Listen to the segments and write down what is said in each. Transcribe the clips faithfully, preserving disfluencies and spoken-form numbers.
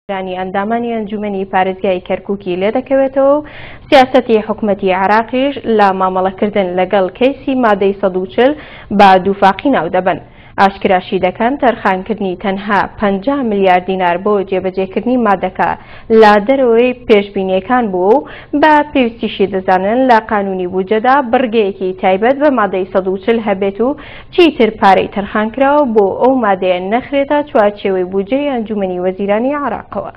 ئەندامانی ئەنجومەنی پارێزگای کەرکوکی لێدەکەوێتەوە و سیاسەتی حکومەتی عێراقیش لە مامەڵەکردن لەگەڵ کەیسی مادەی سەد و چل بە دووفاقی ناودەبەن. ئاشکراشی دەکەن تەرخانکردنی تەنها پەنجا ملیار دینار بۆ جێبەجێکردنی مادەکە لە دەرەوەی پێشبینیەکان بوو و بە پێویستیشی دەزانن لە قانونی بودجەدا بڕگەیەکی تایبەت بە مادەی سەد و چل هەبێت و چیتر پارەی تەرخانکراوە بۆ ئەو مادەیە نەخرێتە چوارچێوەی بودجەی ئەنجومەنی وەزیرانی عێراقەوە.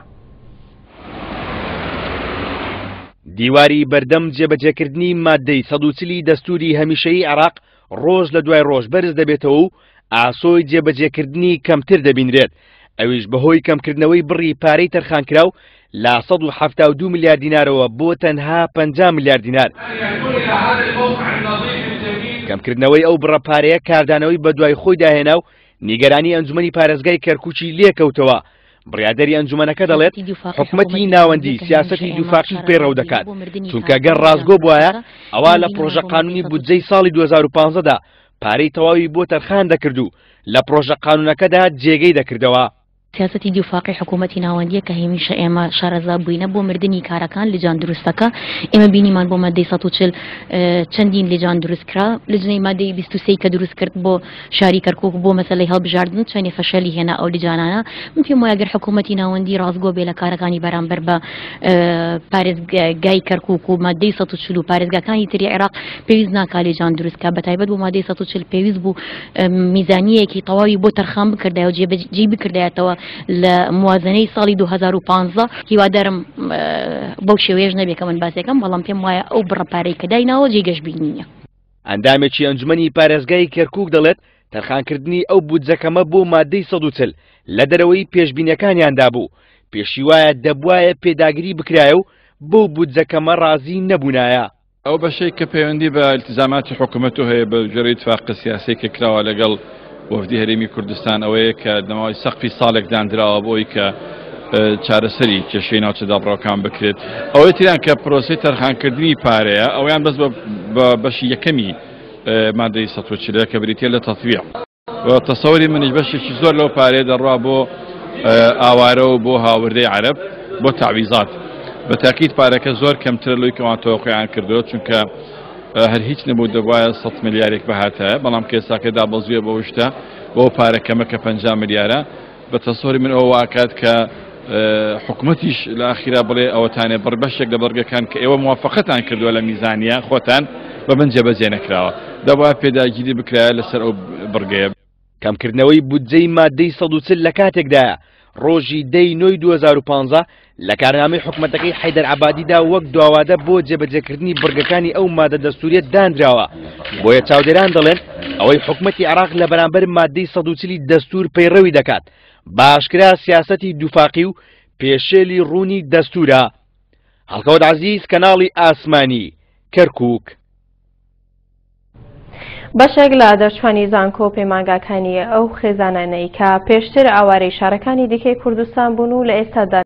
دیواری بەردەم جێبەجێکردنی مادەی سەد و چلی دەستوری هەمیشەیی عێراق ڕۆژ لە دوای ڕۆژ بەرز دەبێتەوە و ئاسۆی جێبەجێکردنی کەمتر دەبینرێت، ئەویش بەهۆی کەمکردنەوەی بڕی پارەی تەرخانکراو لە سەد و حەفتا و دوو ملیار دینارەوە بۆ تەنها پەنجا ملیار دینار. کەمکردنەوەی ئەو بڕە پارەیە کاردانەوەی بەدوای خۆی داهێنا و نیگەرانی ئەنجومەنی پارێزگای کەرکوکی لێکەوتەوە. بڕیاردەری ئەنجومەنەکە دەڵێت حکومەتی ناوەندی سیاسەتی دووفاقی پەیڕەو دەکات، چونکە گەر ڕاستگۆ بوایە ئەوا لە پرۆژە قانونی بودجەی ساڵی دوو هەزار و پازدەدا پارەی تەواوی بۆ تەرخان دەکرد و لە پرۆژە قانونەکەدا جێگەی دەکردەوە. سیاسەتی دووفاقی حکوومەتی ناوەندیە کە هەمیشە ئێمە شارەزا بووینە بۆ مردنی کارەکان لجان دروستەکە. ئێمە بینیمان بۆ مادەی سەد و چل چەندین لجان دروست کرا، لجنەی مادەی بیست و سێ کە دروست کرد بۆ شاری کەرکوک بۆ مەسەلەی هەڵبژاردن چەندێ فەشەلی هێنا ئەو لجانانە. من پێم وایە گەر حکوومەتی ناوەندی ڕاستگۆ بێ لە کارەکانی بەرامبەر بە پارێزگای کەرکوک و مادەی سەد و چل و پارێزگاکانی تری عێراق پێویست ناکا لجان دروست کە، بە تایبەت بۆ مادەی سەد و چل پێویست بوو میزانیەکی تەواوی بۆ تەرخان بکردایە و جێبەجێی بکردایەتەوە لە موازنەی ساڵی دوو هەزار و پازدە. هیوادارم بەو شێوەیەش نەبێ کە من باسێکم، بەڵام پێم وایە ئەو بڕە پارەی کە دایناوە جێی گەشبینی نییە. ئەندامێکی ئەنجومەنی پارێزگای کەرکوک دەڵێت تەرخانکردنی ئەو بودجەکەمە بۆ مادەی سەد و چل لە دەرەوەی پێشبینیەکانیاندا بوو، پێشی وایە دەبوایە پێداگری بکرایە و بەو بودجەکەمە ڕازی نەبوونایە. ئەو بەشەی کە پەیوەندی بە التزاماتی حکوومەت و هەیە بە جۆرەی اتفاق سیاسی کە کراوە لەگەڵ وەفدی هەرێمی کوردستان ئەوەیە کە دەماوەی سەقفی ساڵێک دانراوە بۆی کە چارەسەری کێشەی ناوچە دابڕاوەکان بکرێت. ئەوەی تریان کە پرۆسەی تەرخانکردنی پارەیە ئەویان بەس بە بەشی یەکەمی مادەی سەد و چلە کە بریتیە لە تەطبیع. تەسەوری منیش بەشێکی زۆر لەو پارەیە دەڕوا بۆ ئاوارە و بۆ هاوردەی عەرەب بۆ تەعویزات. بە تاکید پارەکە زۆر کەمترە لەوەی کەوان تەوەقعیان کردووە، چونکە هەر هیچ نەبوو دەبوایە سەد ملیارێک بەهاتایە، بەڵام کێساکە دابەزیوە بەو شتە بۆ پارەکەمە کە پەنجا ملیارە. بە تەسەوری من ئەوە واکات کە حکومەتیش لە ئاخیرا بڵێ ئەوەتانێ بڕ بەشێک لە بەرگەکان کە ئێوە موافقەتان کردووە لە میزانیە خۆتان بە من جێبەجێ نەکراوە، دەبوایە پێداگیری بکرایە لەسەر ئەو بڕگەیە. کەمکردنەوەی بودجەی مادەی سەد و چل لە کاتێکدایە ڕۆژی دەی نۆی دوو هەزار و پازدە لە کارنامەی حکومەتەکەی حەیدەر عەبادیدا وەک دواوادە بۆ جێبەجێکردنی بڕگەکانی ئەو مادە دەستوریە دانراوە. بۆیە چاودێران دەڵێن ئەوەی حکومەتی عێراق لە بەرامبەر مادەی سەد و چلی دەستور پەیڕەوی دەکات باشکرا سیاسەتی دووفاقی و پێشێلی ڕوونی دەستورە. هەڵکەوت عەزیز، کەناڵی ئاسمانی، کەرکوک. بەشێک لە دەرچوانی زانکۆ و پەیمانگاکانی ئەو خێزانانەی کە پێشتر ئاوارەی شارەکانی دیکەی کوردستان بوون و لە ئێستادا